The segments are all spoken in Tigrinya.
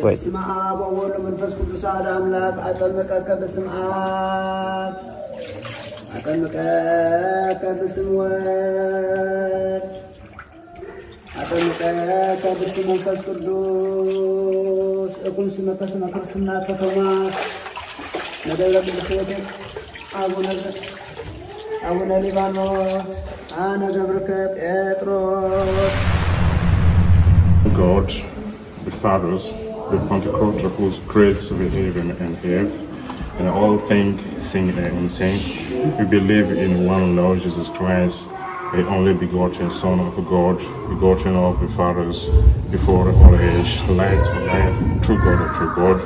በስመ አብ ወወልድ ወመንፈስ ቅዱስ አሐዱ አምላክ። አጠምቀከ በስመ አብ፣ አጠምቀከ በስመ ወልድ፣ አጠምቀከ በስመ መንፈስ ቅዱስ። እኩን ስመ ከስመ ክርስትና ከቶማስ መደብረ ቅዱስ ዮሴፍ አቡነ አቡነ ሊባኖስ አነ ገብርከ ጴጥሮስ። God, the fathers, the Pentecostal who creates the heaven and earth, and all things seen and unseen. We believe in one Lord Jesus Christ, the only begotten Son of God, begotten of the fathers before all age, light of life, true God of true God.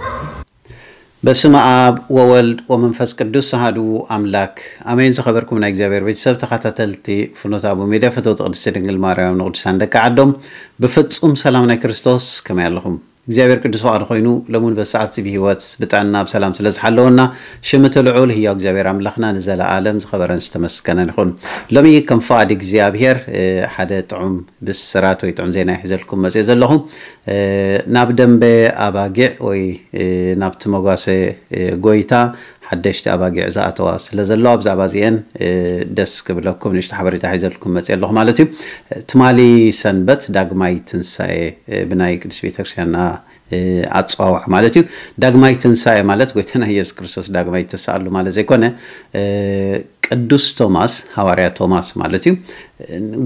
በስመ አብ ወወልድ ወመንፈስ ቅዱስ አሐዱ አምላክ አሜን። ዝኸበርኩም ናይ እግዚኣብሔር ቤተሰብ ተኸታተልቲ ፍኖተ አቡ ሚድያ፣ ፈተውቲ ቅድስቲ ድንግል ማርያም ንቅዱሳን ደቂ ዓዶም ብፍጹም ሰላም ናይ ክርስቶስ ከመይ ኣለኹም? እግዚኣብሔር ቅዱስ ፍቓዱ ኮይኑ ለሙን በሰዓት እዚ ብህይወት ብጥዕና ብሰላም ስለ ዝሓለወና ሽምቲ ልዑል ህያው እግዚኣብሔር ኣምላኽና ንዘለኣለም ዝኸበረን ዝተመስገነን ይኹን። ሎሚ ከም ፍቓድ እግዚኣብሔር ሓደ ጥዑም ብስራት ወይ ጥዑም ዜና ይሕዘልኩም መፅእ ዘለኹ ናብ ደንበ ኣባጊዕ ወይ ናብቲ መጓሰ ጎይታ ሓደሽቲ ኣባጊዕ ዝኣተዋ ስለ ዘለዋ ብዛዕባ እዚአን ደስ ክብለኩም ንሽቶ ሓበሬታ ሒዘልኩም መፅእ ኣለኹ ማለት እዩ። ትማሊ ሰንበት ዳግማይ ትንሳኤ ብናይ ቅዱስ ቤተክርስትያንና ኣፀዋውዓ ማለት እዩ። ዳግማይ ትንሳኤ ማለት ጎይታና ኢየሱስ ክርስቶስ ዳግማይ ይተስኣሉ ማለት ዘይኮነ ቅዱስ ቶማስ ሃዋርያ ቶማስ ማለት እዩ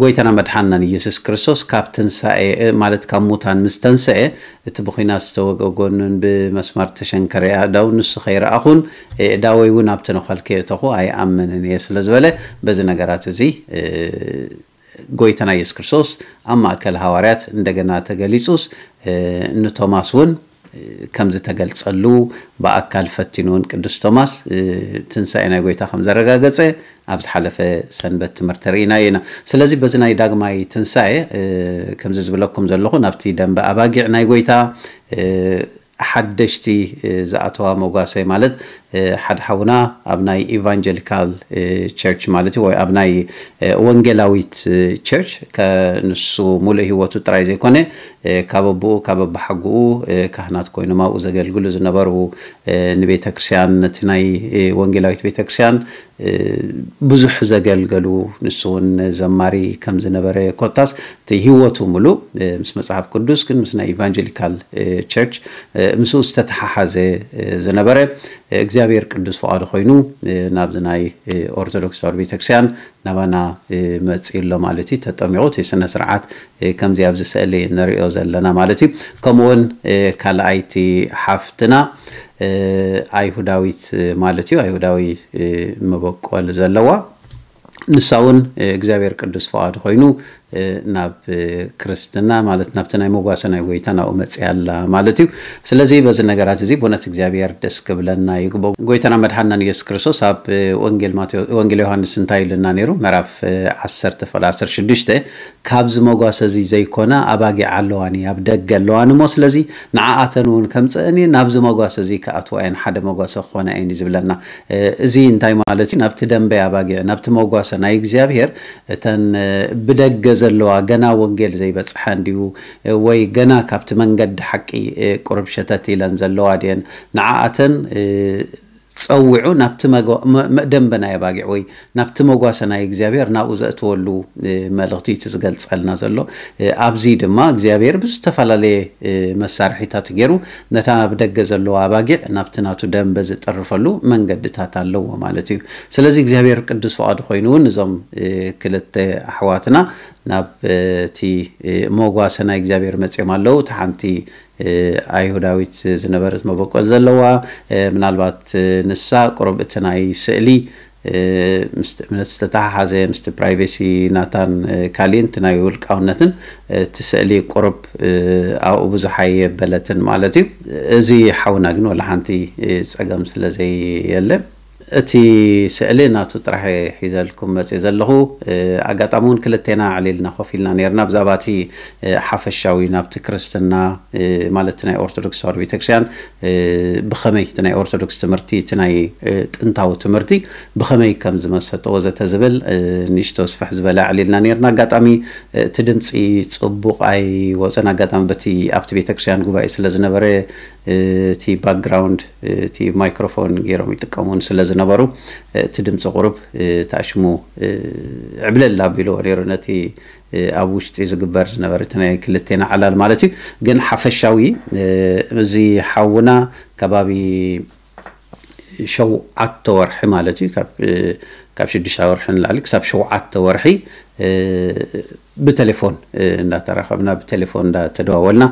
ጎይታና መድሓናን ኢየሱስ ክርስቶስ ካብ ትንሳኤ ማለት ካብ ሙታን ምስ ተንሰኤ እቲ ብኹናት ዝተወገ ጎኑን ብመስማር ተሸንከረ ኣእዳው ንሱ ከይረኣኹን ኣእዳወይ እውን ኣብቲ ነኸል ከየእተኹ ኣይኣምንን እየ ስለ ዝበለ በዚ ነገራት እዚ ጎይታና ኢየሱስ ክርስቶስ ኣብ ማእከል ሃዋርያት እንደገና ተገሊጹስ ንቶማስ እውን ከም ዝተገልጸሉ ብኣካል ፈቲኑ እውን ቅዱስ ቶማስ ትንሳኤ ናይ ጎይታ ከም ዘረጋገጸ ኣብ ዝሓለፈ ሰንበት ትምህርቲ ርኢናዮ ኢና። ስለዚ በዚ ናይ ዳግማይ ትንሳኤ ከምዚ ዝብለኩም ዘለኹ ናብቲ ደንበ ኣባጊዕ ናይ ጎይታ ሓደሽቲ ዝኣተዋ መጓሰ ማለት ሓደ ሓውና ኣብ ናይ ኢቫንጀሊካል ቸርች ማለት እዩ ወይ ኣብ ናይ ወንጌላዊት ቸርች ንሱ ሙሉእ ህይወቱ ጥራይ ዘይኮነ ካብ ኣቦኡ ካብ ኣባሓጎኡ ካህናት ኮይኖም ኣብኡ ዘገልግሉ ዝነበሩ ንቤተክርስትያን ነቲ ናይ ወንጌላዊት ቤተክርስትያን ብዙሕ ዘገልገሉ ንሱ እውን ዘማሪ ከም ዝነበረ ኮታስ እቲ ህይወቱ ሙሉእ ምስ መፅሓፍ ቅዱስ ግን ምስ ናይ ኢቫንጀሊካል ቸርች ምስኡ ዝተተሓሓዘ ዝነበረ እግዚኣብሔር ቅዱስ ፍቓዱ ኮይኑ ናብዚ ናይ ኦርቶዶክስ ተዋህዶ ቤተክርስትያን ናባና መፂኡ ኣሎ ማለት እዩ። ተጠሚቑ እቲ ስነ ስርዓት ከምዚ ኣብዚ ስእሊ ንሪኦ ዘለና ማለት እዩ። ከምኡውን ካልኣይቲ ሓፍትና ኣይሁዳዊት ማለት እዩ ኣይሁዳዊ መበቆል ዘለዋ ንሳ እውን እግዚኣብሔር ቅዱስ ፍቓዱ ኮይኑ ናብ ክርስትና ማለት ናብቲ ናይ መጓሰ ናይ ጎይታ ናብኡ መፅያ ኣላ ማለት እዩ። ስለዚ በዚ ነገራት እዚ ብእውነት እግዚኣብሔር ደስ ክብለና ይግበ። ጎይታና መድሓናን ኢየሱስ ክርስቶስ ኣብ ወንጌል ዮሃንስ እንታይ ኢሉና ነይሩ? ምዕራፍ ዓሰርተ ፍቕዲ ዓሰርተ ሽዱሽተ ካብዚ መጓሰ እዚ ዘይኮና ኣባጊዕ ኣለዋኒ ኣብ ደገ ኣለዋኒ እሞ ስለዚ ንዓኣተን እውን ከምፀእኒ ናብዚ መጓሰ እዚ ክኣትዋ እየን ሓደ መጓሰ ክኾና እየን እዩ ዝብለና። እዚ እንታይ ማለት እዩ? ናብቲ ደንበ ኣባጊዕ ናብቲ መጓሰ ናይ እግዚኣብሔር እተን ብደገ ዘለዋ ገና ወንጌል ዘይበፅሐን ድዩ ወይ ገና ካብቲ መንገዲ ሓቂ ቁርብ ሸተት ኢለን ዘለዋ ድየን ንዓኣተን ፀዊዑ ናብቲ ደንበ ናይ ኣባጊዕ ወይ ናብቲ መጓሰ ናይ እግዚኣብሔር ናብኡ ዘእትወሉ መልእኽቲ እቲ ዝገልፀልና ዘሎ። ኣብዚ ድማ እግዚኣብሔር ብዝተፈላለየ መሳርሒታት ገይሩ ነታ ኣብ ደገ ዘለዋ ኣባጊዕ ናብቲ ናቱ ደንበ ዝጠርፈሉ መንገድታት ኣለዎ ማለት እዩ። ስለዚ እግዚኣብሔር ቅዱስ ፍቓዱ ኮይኑ እውን እዞም ክልተ ኣሕዋትና ናብ እቲ መጓሰ ናይ እግዚኣብሔር መፅኦም ኣለዉ። እቲ ሓንቲ ኣይሁዳዊት ዝነበረት መበቆል ዘለዋ ምናልባት ንሳ ቁሩብ እቲ ናይ ስእሊ ምስ እምነት ዝተተሓሓዘ ምስቲ ፕራይቬሲ ናታን ካሊእን እቲ ናይ ውልቃውነትን እቲ ስእሊ ቁሩብ ኣብኡ ብዙሕ ኣየበለትን ማለት እዩ። እዚ ሓውና ግን ወላ ሓንቲ ፀገም ስለ ዘየለ እቲ ስእሊ ናቱ ጥራሕ እየ ሒዘልኩም መፅእ ዘለኹ። ኣጋጣሚ እውን ክልቴና ዕሊልና ኮፍ ኢልና ነርና ብዛዕባ እቲ ሓፈሻዊ ናብቲ ክርስትና ማለት ናይ ኦርቶዶክስ ተዋህዶ ቤተክርስትያን ብኸመይ እቲ ናይ ኦርቶዶክስ ትምህርቲ እቲ ናይ ጥንታዊ ትምህርቲ ብኸመይ ከም ዝመሰጠ ወዘተ ዝብል ንእሽቶ ስፍሕ ዝበለ ዕሊልና ነርና። ኣጋጣሚ እቲ ድምፂ ፅቡቕ ኣይወፀን። ኣጋጣሚ በቲ ኣብቲ ቤተክርስትያን ጉባኤ ስለ ዝነበረ እቲ ባክግራውንድ እቲ ማይክሮፎን ገይሮም ይጥቀሙን ስለ ዝነበሩ እቲ ድምፂ ቁሩብ ተኣሽሙ ዕብለል ኣቢልዎ ነይሩ ነቲ ኣብ ውሽጢ ዝግበር ዝነበረ እቲ ናይ ክልቴና ዕላል ማለት እዩ። ግን ሓፈሻዊ እዚ ሓውና ከባቢ ሸውዓተ ወርሒ ማለት እዩ ካብ ሽዱሽተ ወርሒ ንላዕሊ ክሳብ ሸውዓተ ወርሒ ብቴሌፎን እንዳተራኸብና ብቴሌፎን እንዳተደዋወልና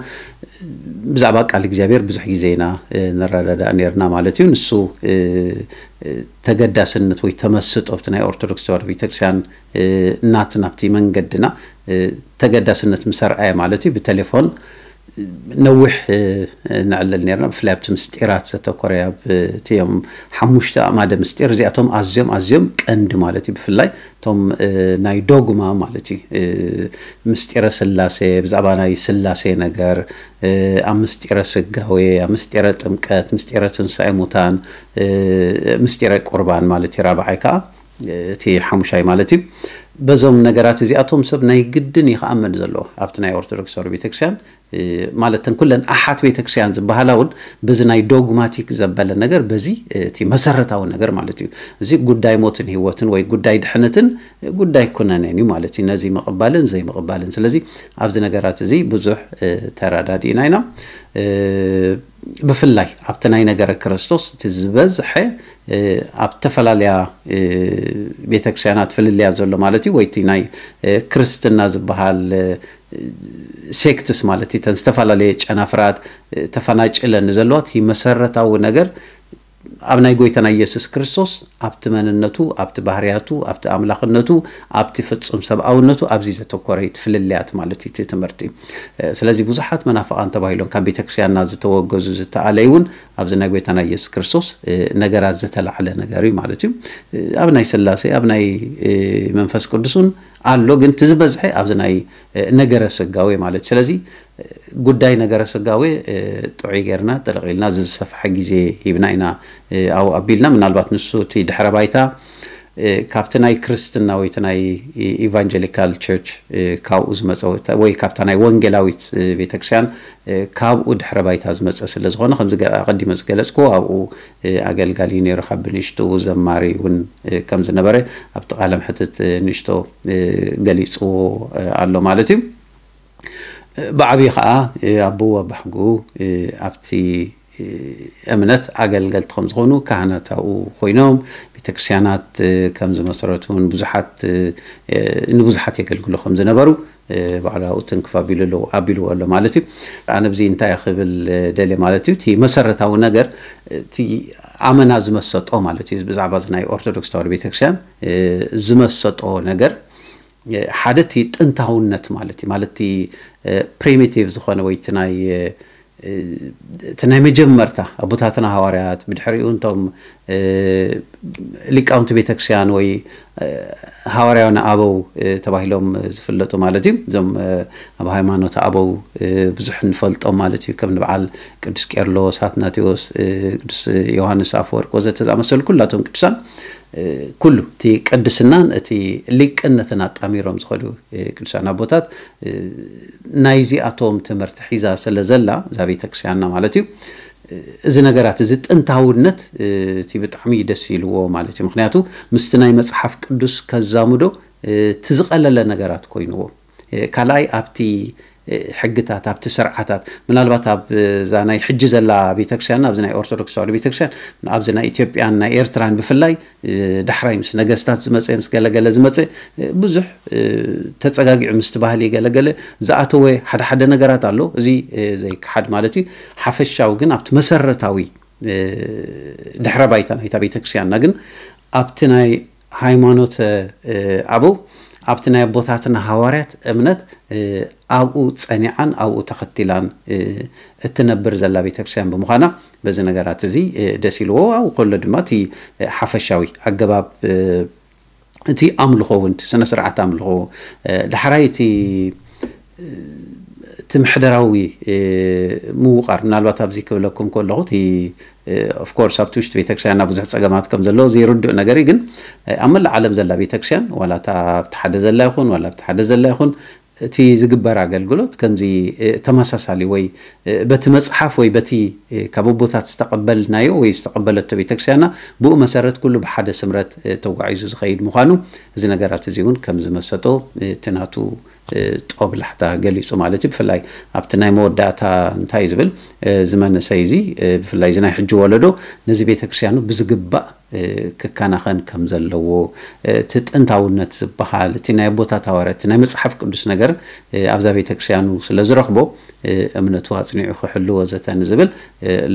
ብዛዕባ ቃል እግዚኣብሔር ብዙሕ ግዜ ኢና ንረዳዳእ ነርና ማለት እዩ። ንሱ ተገዳስነት ወይ ተመስጦ ኣብቲ ናይ ኦርቶዶክስ ተዋህዶ ቤተክርስትያን ናት ናብቲ መንገድና ተገዳስነት ምሰርኣየ ማለት እዩ። ብቴሌፎን ነዊሕ ንዕልል ነርና። ብፍላይ ኣብቲ ምስጢራት ዘተኮረ ኣብቲዮም ሓሙሽተ ኣማደ ምስጢር እዚኣቶም ኣዝዮም ኣዝዮም ቀንዲ ማለት እዩ። ብፍላይ እቶም ናይ ዶግማ ማለት እዩ ምስጢረ ስላሴ ብዛዕባ ናይ ስላሴ ነገር ኣብ ምስጢረ ስጋዌ ኣብ ምስጢረ ጥምቀት ምስጢረ ትንሳኤ ሙታን ምስጢረ ቁርባን ማለት እዩ። ራብዓይ ከዓ እቲ ሓሙሻይ ማለት እዩ። በዞም ነገራት እዚኣቶም ሰብ ናይ ግድን ይክኣመን ዘለዎ ኣብቲ ናይ ኦርቶዶክስ ተዋህዶ ቤተክርስትያን ማለት ተን ኩለን ኣሓት ቤተክርስትያን ዝበሃላ እውን በዚ ናይ ዶግማቲክ ዘበለ ነገር በዚ እቲ መሰረታዊ ነገር ማለት እዩ። እዚ ጉዳይ ሞትን ህይወትን ወይ ጉዳይ ድሕነትን ጉዳይ ኩነኔን እዩ ማለት እዩ። ነዚ ምቕባልን ዘይምቕባልን። ስለዚ ኣብዚ ነገራት እዚ ብዙሕ ተረዳዲእና ኢና። ብፍላይ ኣብቲ ናይ ነገረ ክርስቶስ እቲ ዝበዝሐ ኣብ ዝተፈላለያ ቤተክርስትያናት ፍልልያ ዘሎ ማለት እዩ። ወይቲ ናይ ክርስትና ዝበሃል ሴክትስ ማለት እተን ዝተፈላለየ ጨናፍራት ተፈናጭለን ዘለዋ እቲ መሰረታዊ ነገር ኣብ ናይ ጎይታና ኢየሱስ ክርስቶስ ኣብቲ መንነቱ ኣብቲ ባህርያቱ ኣብቲ ኣምላኽነቱ ኣብቲ ፍጹም ሰብኣውነቱ ኣብዚ ዘተኮረ እዩ እቲ ፍልልያት ማለት እዩ እቲ ትምህርቲ። ስለዚ ብዙሓት መናፍቓን ተባሂሎም ካብ ቤተክርስትያንና ዝተወገዙ ዝተኣለዩ እውን ኣብዚ ናይ ጎይታና ኢየሱስ ክርስቶስ ነገራት ዝተላዕለ ነገር እዩ ማለት እዩ። ኣብ ናይ ስላሴ ኣብ ናይ መንፈስ ቅዱስ እውን ኣሎ፣ ግን እቲ ዝበዝሐ ኣብዚ ናይ ነገረ ስጋዌ ማለት እዩ። ስለዚ ጉዳይ ነገረ ስጋዌ ጥዑይ ጌርና ጥልቕ ኢልና ዝሰፍሐ ግዜ ሂብና ኢና ኣብኡ ኣቢልና። ምናልባት ንሱ እቲ ድሕረ ባይታ ካብቲ ናይ ክርስትና ወይ እቲ ናይ ኢቫንጀሊካል ቸርች ካብኡ ዝመፀ ወይ ካብታ ናይ ወንጌላዊት ቤተክርስትያን ካብኡ ድሕረ ባይታ ዝመፀ ስለ ዝኾነ ከምዚ ኣቐዲመ ዝገለፅኩዎ ኣብኡ ኣገልጋሊ ነይሩ ካብ ብንሽጡ ዘማሪ እውን ከም ዝነበረ ኣብቲ ቃለ ምሕትት ንእሽቶ ገሊፅዎ ኣሎ ማለት እዩ። ብዓብዪ ከዓ ኣቦ ኣባሕጉ ኣብቲ እምነት ኣገልገልቲ ከም ዝኾኑ ካህናት ኣብኡ ኮይኖም ቤተክርስትያናት ከም ዝመሰረቱን ብዙሓት ንብዙሓት የገልግሉ ከም ዝነበሩ ባዕሉ ኣብኡ ትንክፍ ኣቢሉ ኣለዎ ኣቢልዎ ኣሎ ማለት እዩ። ኣነ ብዚ እንታይ ክብል ደልየ ማለት እዩ እቲ መሰረታዊ ነገር እቲ ኣመና ዝመሰጦ ማለት እዩ። ብዛዕባ እዚ ናይ ኦርቶዶክስ ተዋህዶ ቤተክርስትያን ዝመሰጦ ነገር ሓደ እቲ ጥንታውነት ማለት እዩ። ማለት እቲ ፕሪሚቲቭ ዝኾነ ወይ እቲ ናይ እቲ ናይ መጀመርታ ኣቦታትና ሃዋርያት ብድሕሪኡ እንቶም ሊቃውንቲ ቤተክርስትያን ወይ ሃዋርያውያን ኣበው ተባሂሎም ዝፍለጡ ማለት እዩ። እዞም ኣብ ሃይማኖት ኣበው ብዙሕ ንፈልጦም ማለት እዩ። ከም ንበዓል ቅዱስ ቄርሎስ፣ ኣትናቴዎስ፣ ቅዱስ ዮሃንስ ኣፈወርቅ ወዘተ ዝኣመሰሉ ኩላቶም ቅዱሳን ኩሉ እቲ ቅድስናን እቲ ሊቅነትን ኣጣሚሮም ዝኸዱ ቅዱሳን ኣቦታት ናይዚኣቶም ትምህርቲ ሒዛ ስለ ዘላ እዛ ቤተክርስትያንና ማለት እዩ። እዚ ነገራት እዚ ጥንታውነት እቲ ብጣዕሚ ደስ ኢልዎ ማለት እዩ። ምክንያቱ ምስቲ ናይ መፅሓፍ ቅዱስ ከዛምዶ እቲ ዝቐለለ ነገራት ኮይንዎ። ካልኣይ ኣብቲ ሕግታት ኣብቲ ስርዓታት ምናልባት ኣብዛ ናይ ሕጂ ዘላ ቤተክርስትያንና ኣብዚ ናይ ኦርቶዶክስ ተዋህዶ ቤተክርስትያን ኣብዚ ናይ ኢትዮጵያን ናይ ኤርትራን ብፍላይ ዳሕራይ ምስ ነገስታት ዝመፀ ምስ ገለገለ ዝመፀ ብዙሕ ተፀጋጊዑ ምስቲ ባህሊ ገለገለ ዝኣተወ ሓደ ሓደ ነገራት ኣሎ። እዚ ዘይከሓድ ማለት እዩ። ሓፈሻዊ ግን ኣብቲ መሰረታዊ ድሕረ ባይታ ናይታ ቤተክርስትያንና ግን ኣብቲ ናይ ሃይማኖት ኣበው ኣብቲ ናይ ኣቦታትና ሃዋርያት እምነት ኣብኡ ጸኒዓን ኣብኡ ተኸቲላን እትነብር ዘላ ቤተክርስትያን ብምዃና፣ በዚ ነገራት እዚ ደስ ኢልዎ ኣብኡ ከሎ ድማ እቲ ሓፈሻዊ ኣገባብ እቲ ኣምልኾ እውን፣ እቲ ስነ ስርዓት ኣምልኾ፣ ዳሕራይ እቲ እቲ ምሕደራዊ ምውቓር፣ ምናልባት ኣብዚ ክብለኩም ከለኹ እቲ ኦፍኮርስ ኣብቲ ውሽጢ ቤተክርስትያንና ብዙሕ ጸገማት ከም ዘለዎ ዘይርድእ ነገር እዩ። ግን ኣብ መላእ ዓለም ዘላ ቤተክርስትያን፣ ዋላ እታ ኣብቲ ሓደ ዘላ ይኹን ዋላ ኣብቲ ሓደ ዘላ ይኹን፣ እቲ ዝግበር ኣገልግሎት ከምዚ ተመሳሳሊ ወይ በቲ መጽሓፍ ወይ በቲ ካብ ኣቦታት ዝተቐበልናዮ ወይ ዝተቐበለቶ ቤተክርስትያንና፣ ብኡ መሰረት ኩሉ ብሓደ ስምረት ተጓዒዙ ዝኸይድ ምዃኑ፣ እዚ ነገራት እዚ እውን ከም ዝመሰጦ እቲ ናቱ ጦብላሕታ ገሊጹ ማለት እዩ። ብፍላይ ኣብቲ ናይ መወዳእታ እንታይ እዩ ዝብል፣ እዚ መንእሰይ እዚ፣ ብፍላይ እዚ ናይ ሕጂ ወለዶ፣ ነዚ ቤተክርስትያኑ ብዝግባእ ክከናኸን ከም ዘለዎ፣ እቲ ጥንታውነት ዝበሃል፣ እቲ ናይ ኣቦታት ሃዋርያት፣ እቲ ናይ መጽሓፍ ቅዱስ ነገር ኣብዛ ቤተክርስትያኑ ስለ ዝረኽቦ፣ እምነቱ ኣጽኒዑ ክሕሉ ወዘተ ንዝብል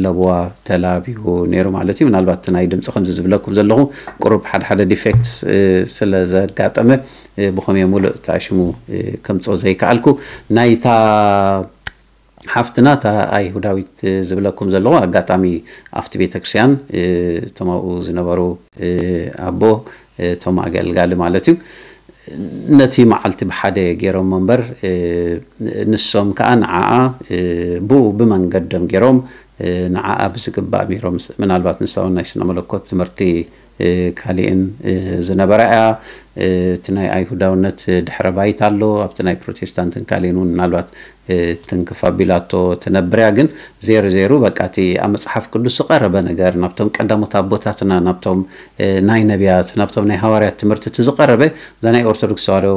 ለበዋ ተላቢዩ ነይሩ ማለት እዩ። ምናልባት እቲ ናይ ድምፂ ከምዚ ዝብለኩም ዘለኹ ቁሩብ ሓደ ሓደ ዲፌክትስ ስለ ዘጋጠመ፣ ብኸምየ ሙሉእ ተኣሽሙ ከምፅኦ ዘይከኣልኩ፣ ናይታ ሓፍትና እታ ኣይሁዳዊት ዝብለኩም ዘለኹ፣ ኣጋጣሚ ኣብቲ ቤተክርስትያን እቶም ኣብኡ ዝነበሩ ኣቦ፣ እቶም ኣገልጋሊ ማለት እዩ፣ ነቲ መዓልቲ ብሓደ ገይሮሞ እምበር፣ ንሶም ከዓ ንዓኣ ብኡ ብመንገዶም ገይሮም ንዓኣ ብዝግባእ ሚሮም፣ ምናልባት ንሳ እውን ናይ ስነ መለኮት ትምህርቲ ካሊእን ዝነበራ እያ። እቲ ናይ ኣይሁዳውነት ድሕረ ባይታ ኣሎ፣ ኣብቲ ናይ ፕሮቴስታንትን ካሊእን እውን ምናልባት ትንክፍ ኣቢላቶ ትነብር እያ። ግን ዜሩ ዜሩ በቃ እቲ ኣብ መጽሓፍ ቅዱስ ዝቐረበ ነገር፣ ናብቶም ቀዳሞት ኣቦታትና፣ ናብቶም ናይ ነቢያት፣ ናብቶም ናይ ሃዋርያት ትምህርቲ እቲ ዝቐረበ፣ እዛ ናይ ኦርቶዶክስ ተዋህዶ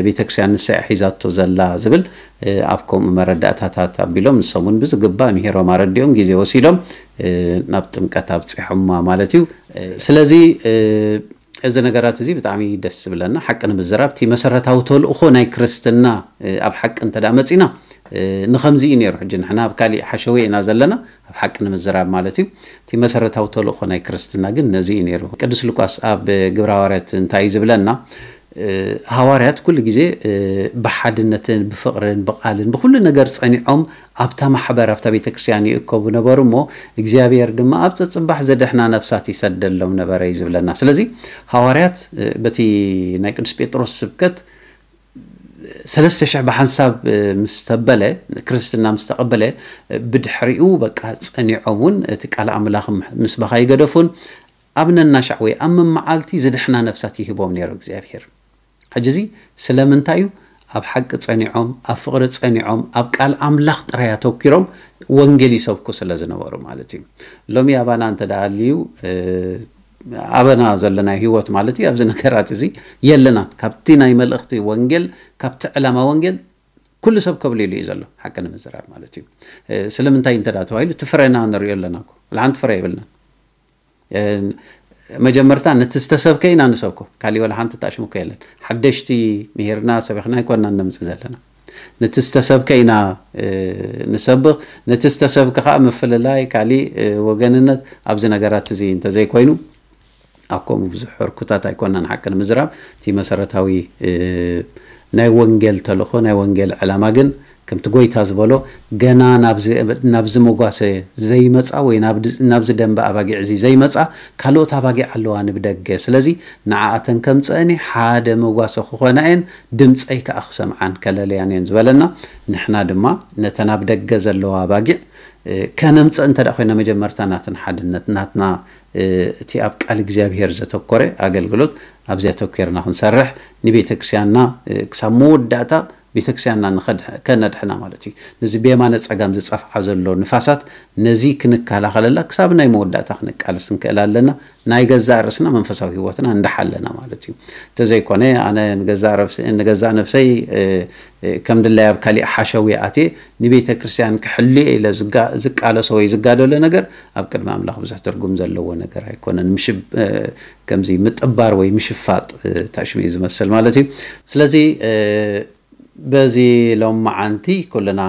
ቤተክርስትያን ንሳ እያ ሒዛቶ ዘላ ዝብል ኣብ ከምኡ መረዳእታታት ኣቢሎም፣ ንሶም እውን ብዝግባእ ምሂሮም ኣረዲኦም ግዜ ወሲዶም ናብ ጥምቀት ኣብፂሖማ ማለት እዩ። ስለዚ እዚ ነገራት እዚ ብጣዕሚ ደስ ዝብለና፣ ሓቂ ንምዝራብ እቲ መሰረታዊ ተልእኾ ናይ ክርስትና ኣብ ሓቂ እንተ ደኣ መፂና ንኸምዚ እዩ ነይሩ። ሕጂ ንሕና ኣብ ካሊእ ሓሸውየ ኢና ዘለና፣ ኣብ ሓቂ ንምዝራብ ማለት እዩ። እቲ መሰረታዊ ተልእኾ ናይ ክርስትና ግን ነዚ እዩ ነይሩ። ቅዱስ ሉቃስ ኣብ ግብረ ሃዋርያት እንታይ እዩ ዝብለና? ሃዋርያት ኩሉ ግዜ ብሓድነትን ብፍቕርን ብቓልን ብኩሉ ነገር ጸኒዖም ኣብታ ማሕበር ኣብታ ቤተ ክርስቲያን ይእከቡ ነበሩ እሞ እግዚኣብሔር ድማ ኣብ ጸጽባሕ ዘደሕና ነፍሳት ይሰደሎም ነበረ እዩ ዝብለና። ስለዚ ሃዋርያት በቲ ናይ ቅዱስ ጴጥሮስ ስብከት ሰለስተ ሽሕ ብሓንሳብ ምስ ተበለ ክርስትና ምስ ተቐበለ ብድሕሪኡ በቃ ጸኒዖም እውን እቲ ቃል ኣምላኽ ምስባኻ ይገደፉን ኣብ ነናሻዕ ወይ ኣብ መመዓልቲ ዝድሕና ነፍሳት ይህቦም ነይሩ እግዚኣብሔር። ሕጂ እዚ ስለምንታይ እዩ? ኣብ ሓቂ ጸኒዖም፣ ኣብ ፍቕሪ ጸኒዖም፣ ኣብ ቃል ኣምላኽ ጥራይ ኣተኪሮም ወንጌል ይሰብኩ ስለ ዝነበሩ ማለት እዩ። ሎሚ ኣባና እንተ ደኣ ኣልዩ ኣበና ዘለና ህይወት ማለት እዩ ኣብዚ ነገራት እዚ የለናን። ካብቲ ናይ መልእኽቲ ወንጌል ካብቲ ዕላማ ወንጌል ኩሉ ሰብ ከብሊሉ እዩ ዘሎ ሓቂ ንምዝራብ ማለት እዩ። ስለምንታይ እንተ ደኣ ተባሂሉ እቲ ፍረና ንሪኦ ኣለና እኮ ሓንቲ ፍረ የብልናን። መጀመርታ ነቲ ዝተሰብከ ኢና ንሰብኮ፣ ካሊእ ወላ ሓንቲ ተኣሽምኮ የለን። ሓደሽቲ ምሂርና ሰቢኽና ኣይኮንና ነምፅእ ዘለና። ነቲ ዝተሰብከ ኢና ንሰብኽ። ነቲ ዝተሰብከ ከዓ ምፍልላይ፣ ካሊእ ወገንነት ኣብዚ ነገራት እዚ እንተዘይኮይኑ ኣብ ከምኡ ብዙሕ ህርኩታት ኣይኮንናን ሓቂ ንምዝራብ። እቲ መሰረታዊ ናይ ወንጌል ተልእኾ ናይ ወንጌል ዕላማ ግን ከምቲ ጎይታ ዝበሎ ገና ናብዚ መጓሰ ዘይመፃ ወይ ናብዚ ደንበ ኣባጊዕ እዚ ዘይመፃ ካልኦት ኣባጊዕ ኣለዋ ንብደገ። ስለዚ ንዓኣተን ከምፀአኒ ሓደ መጓሰ ክኾና እየን፣ ድምፀይ ከዓ ክሰምዓን ከለልያን እየን ዝበለና። ንሕና ድማ ነተን ኣብ ደገ ዘለዋ ኣባጊዕ ከነምፀእ እንተ ኮይና መጀመርታ ናትን ሓድነት ናትና እቲ ኣብ ቃል እግዚኣብሔር ዘተኮረ ኣገልግሎት ኣብዚኣ ተኮርና ክንሰርሕ ንቤተ ክርስቲያንና ክሳብ መወዳእታ ቤተ ክርስቲያንና ከነድሕና ማለት እዩ። ነዚ ብየማነ ጸጋም ዝጸፍዓ ዘሎ ንፋሳት ነዚ ክንከላኸለላ ክሳብ ናይ መወዳእታ ክንቃለስ ንክእል ኣለና። ናይ ገዛእ ርእስና መንፈሳዊ ህይወትና እንዳሓለና ማለት እዩ። እንተዘይኮነ ኣነ ንገዛእ ነፍሰይ ከም ድላይ ኣብ ካሊእ ሓሸውየ ኣትየ ንቤተ ክርስቲያን ክሕልዮ ኢለ ዝቃለሶ ወይ ዝጋደሎ ነገር ኣብ ቅድሚ ኣምላኽ ብዙሕ ትርጉም ዘለዎ ነገር ኣይኮነን። ከምዚ ምጥባር ወይ ምሽፋጥ ታሽሙ እዩ ዝመስል ማለት እዩ። ስለዚ በዚ ሎም መዓንቲ ኩልና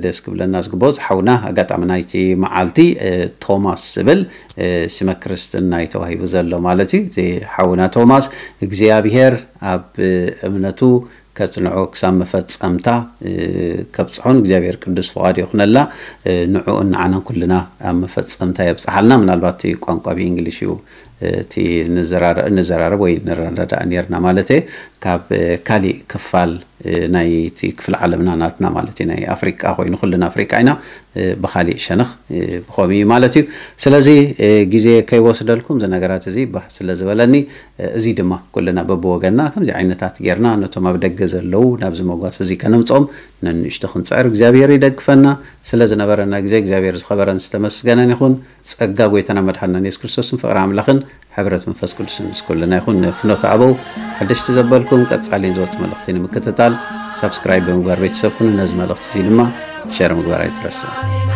ደስ ክብለና ዝግብኦ ዝሓውና ኣጋጣሚ ናይቲ መዓልቲ ቶማስ ዝብል ስመ ክርስትና እዩ ተዋሂቡ ዘሎ ማለት እዩ። እዚ ሓውና ቶማስ እግዚኣብሔር ኣብ እምነቱ ከጽንዖ ክሳብ መፈጸምታ ከብጽሖን እግዚኣብሔር ቅዱስ ፍቓዱ ይኹነላ። ንዕኡን ንዓናን ኩልና ኣብ መፈጸምታ የብጽሓልና። ምናልባት ቋንቋ ብእንግሊሽ እዩ እቲ ንዘራረብ ወይ ንረዳዳእ ነርና ማለት ካብ ካሊእ ክፋል ናይ እቲ ክፍሊ ዓለምና ናትና ማለት እዩ ናይ ኣፍሪቃ ኮይኑ ኩልና ኣፍሪቃ ኢና። ብካሊእ ሸነኽ ብኸምኡ እዩ ማለት እዩ። ስለዚ ግዜ ከይወስደልኩም እዚ ነገራት እዚ ባህ ስለ ዝበለኒ እዚ ድማ ኩልና በብወገንና ከምዚ ዓይነታት ጌርና ነቶም ኣብ ደገ ዘለዉ ናብዚ መጓስ እዚ ከነምፅኦም ነንእሽቶ ክንፅዕር እግዚኣብሔር ይደግፈና። ስለ ዝነበረና ግዜ እግዚኣብሔር ዝኸበረን ዝተመስገነን ይኹን። ጸጋ ጎይታና መድሓንና የሱስ ክርስቶስን ፍቕሪ ኣምላኽን ሕብረት መንፈስ ቅዱስን ምስ ኩልና ይኹን። ንፍኖተ ኣበው ሓደሽቲ ዘበልኩም ቀጻሊን ዝወጽእ መልእኽቲ ንምክትታል ሳብስክራይብ ብምግባር ቤተሰብ ኩኑ። ነዚ መልእኽቲ እዚ ድማ ሸር ምግባር ኣይትረስዑ።